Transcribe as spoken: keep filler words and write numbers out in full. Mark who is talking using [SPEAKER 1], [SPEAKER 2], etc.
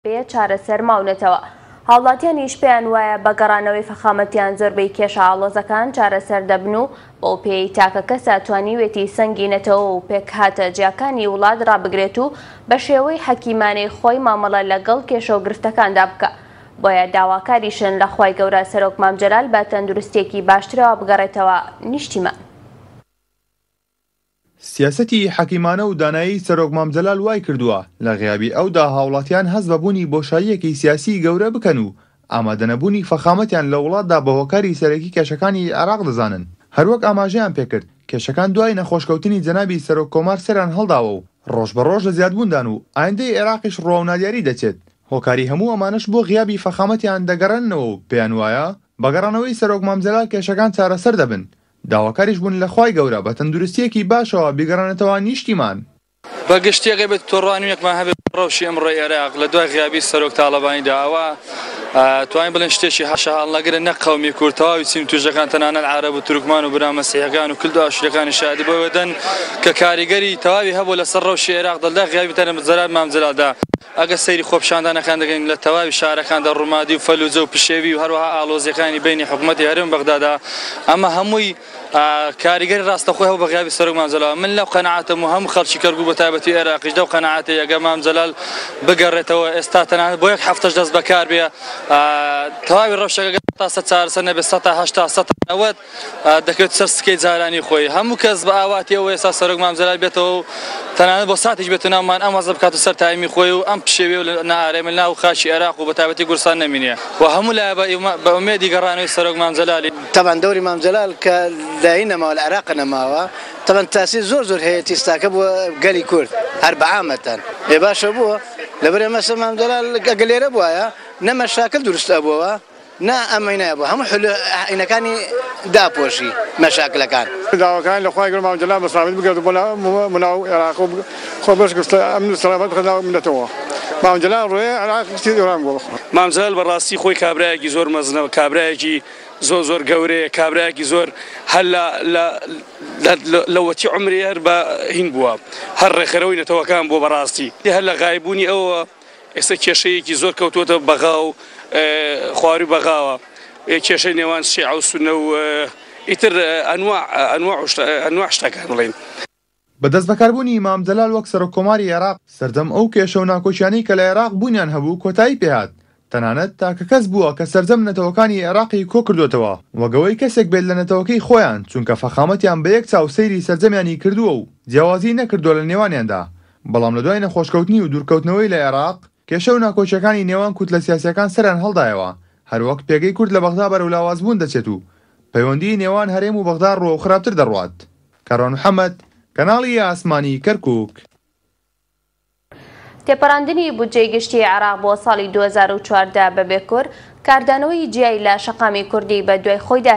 [SPEAKER 1] بێ چارەسەر ماونەتەوە. هاوڵاتیانیش پێیان وایە بە گەڕانەوەی فەخامەتیان زۆربەی کێشە ئاڵۆزەکان چارەسەر دەبن و بەو پێی تاکە کەسە توانیوێتی سەنگی نەتەوە و پێکهاتە جیاکانی وڵات ڕابگرێت و بە شێوەی حەکیمانەی خۆی مامەڵە لەگەڵ کێشە و گرفتەکاندا بکە. بۆیە داواکاریشن لە خوای گەورە سەرۆک مام جەلال بە تەندروستیەکی باشترەوە بگەڕێتەوە نیشتیمان.
[SPEAKER 2] سیاسەتی حەکیمانە و دانایی سەرۆک مام جەلال وای کردووە لە غیابی ئەودا هاوڵاتیان هەست بە بوونی بۆشاییەکی سیاسی گەورە بکەن و ئامادەنەبوونی فەخامەتیان لە وڵاتدا بە هۆکاری سەرەکی کێشەکانی عێراق دەزانن. هەروەک ئاماژەیان پێکرد کێشەکان دوای نەخۆشکەوتنی جەنابی سەرۆک کۆمار سەریان هەڵداوە و ڕۆژ بە ڕۆژ لە زیادبووندان و ئایندەی عێراقیش ڕواو نادیاری دەچێت. هۆکاری هەموو ئەمانەش بۆ غیابی فەخامەتیان دەگەڕێننەوە و پێیان وایە بە گەڕانەوەی سەرۆک مام جەلال کێشەکان چارەسەر دەبن. داواکاریش بوون لە خوای گەورە بە تەندروستیەکی باشەوە بیگەڕێنێتەوە نیشتیمان.
[SPEAKER 3] بە گشتی ئەگەر بێت تۆڕانوویەکمان هەبێت ڕەوشی ئەمڕۆی عێراق لە دوای غیابی سەرۆک تاڵەبانیدا ئەوە توانین بڵێن شتێکی حاشا هەڵنەگرن نەک قەومی کورد تەواوی چین توژەکان تەنانەت عەرەب و تورکمان و برا مەسیحەکان و کلد و ئاشوریەکانی شادی بۆ دەن کە کاریگەری تەواوی هەبوو لەسەر ڕەوشی عێراق دەلدا غیابی تەنە جەلال مام جەلالدا. ئەگەر سەیری خۆپیشاندانەکان دەکەین لە تەواوی شارەکاندا ڕوومادی و فەلوجە و پشێوی و هەروەها ئالۆزیەکانی بینی حکوومەتی هەرێم بەغدادا ئەمە هەمووی کاریگەری ڕاستەخۆی هەبوو بە غیابی سەرۆک مام جەلال. من لەو قەناعەتەم و هەموو خەڵکی کەرکووک بە تایبەتی عێراقیش لەو قەناعەتەی ئەگەر مام جەلال بگەڕێتەوە ئێستا تەنانەت بۆ یەک هەفتەش دەست بەکار بێ تەواوی ڕەوشەکە تا سەد چارەسەر نەبێت سەد تا هەشتا سەد تا نەوەد دەکەوێت سەر سکەی جارانی خۆی. هەموو کەس بە ئاواتی ئەوە ئێستا سەرۆک مام جەلال بێتەوە و تەنانەت بۆ ساتێک بێتە ناومان ئەم وەزە بکات و سەر تایمی خۆی و ئەم پشێوی و نائارامی ناو خاکی عێراق و بە تایبەتی کوردستان نەمینێ و هەموو لایە بە ئومێدی گەڕانەوەی سەرۆک مام جەلالی.
[SPEAKER 4] طبعا دەوری مام جەلال کە لای نەماوە لە عێراق نەماوە طبعا تاسیر زۆر زۆر هەیە تیستاکە بووە گەلی کورد هەر بەعامەتەن ئێ باشە بووە لەبەر ئێمە مام جەلال ئەگەر لێرە بوایە نە مەشاکل دروست ئەبووەوە نا ئەمەی نایبوو هەموو حلینەکانی داپۆشی مەشاکلەکان.
[SPEAKER 5] داواکان لە خوای گەورە مام جەلال بە سەلامەتی بگەڕێت بۆ ناو عێراق و خۆ بەش گرتە ئەمن و سەلامەت بخە ناو مللەتەوە. مام جەلال ڕۆیە عێراق ئێران بووە.
[SPEAKER 6] مام جەلال بەڕاستی خۆی کابرایەکی زۆر مەزنە، کابرایەکی زۆر زۆر گەورەیە، کابرایەکی زۆر هەر لە وەتی عومری هەر بە هین بووە، هەر ڕێکخەرەوەی نەتەوەکان بووە بەڕاستی. هەر لە غایبوونی ئەوە ئێستا کێشەیەکی زۆر کەوتووەتە بەغا و خواروی بەغاوە، کێشەی نێوان شیعە و سوننە و ئیتر ئەنواع شتەکان بڵێین.
[SPEAKER 2] بە دەستبەکاربوونی مام جەلال وەک سەرۆک کۆماری عێراق سەرجەم ئەو کێشە و ناکۆکیانەی کە لە عێراق بوونیان هەبوو کۆتایی پێهات. تەنانەت تاکە کەس بووە کە سەرجەم نەتەوەکانی عێراقی کۆ کردوێتەوە وەگەوەی کەسێک بێت لە نەتەوەکەی خۆیان، چونکە فەخامەتیان بە یەک چاو سەیری سەرجەمیانی کردووە و جیاوازی نەکردووە لە نێوانیاندا. بەڵام لە دوای نەخۆشکەوتنی و دوورکەوتنەوەی لە عێراق کێشە و ناکۆکیەکانی نێوان کوتلە سیاسیەکان سەریان هەڵدایەوە، هەروەک پێگەی کورد لە بەغدا بەرەو لاوازبوون دەچێت و پەیوەندی نێوان هەرێم و بەغدا ڕووەو خراپتر دەڕوات. کاروان محەممەد، کەناڵی ئاسمانی کەرکووک.
[SPEAKER 1] تێپەڕاندنی بودجەی گشتی عێراق بۆ ساڵی دوو هەزار و چواردە بەبێ کورد کاردانەوەی جیای لە شەقامی کوردی بە دوای خۆیدا